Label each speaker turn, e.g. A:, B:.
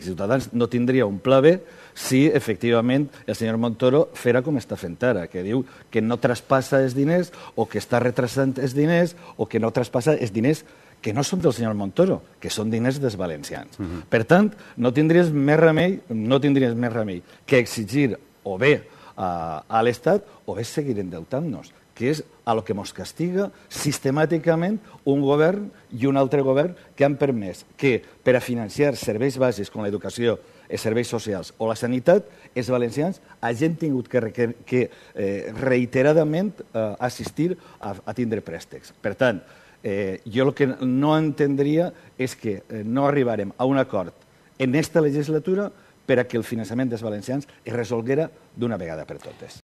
A: Ciutadans no tindria un pla B si, efectivament, el senyor Montoro fera com està fent ara, que diu que no traspassa els diners o que està retrasant els diners o que no traspassa els diners que no són del senyor Montoro, que són diners dels valencians. Per tant, no tindries més remei que exigir o bé a l'Estat o bé seguir endeutant-nos, que és a lo que ens castiga sistemàticament un govern i un altre govern que han permès que per a financiar serveis bàsics com l'educació, els serveis socials o la sanitat, els valencians hagin tingut que reiteradament assistir a tindre préstecs. Per tant, jo el que no entendria és que no arribarem a un acord en aquesta legislatura per a que el finançament dels valencians es resolguera d'una vegada per totes.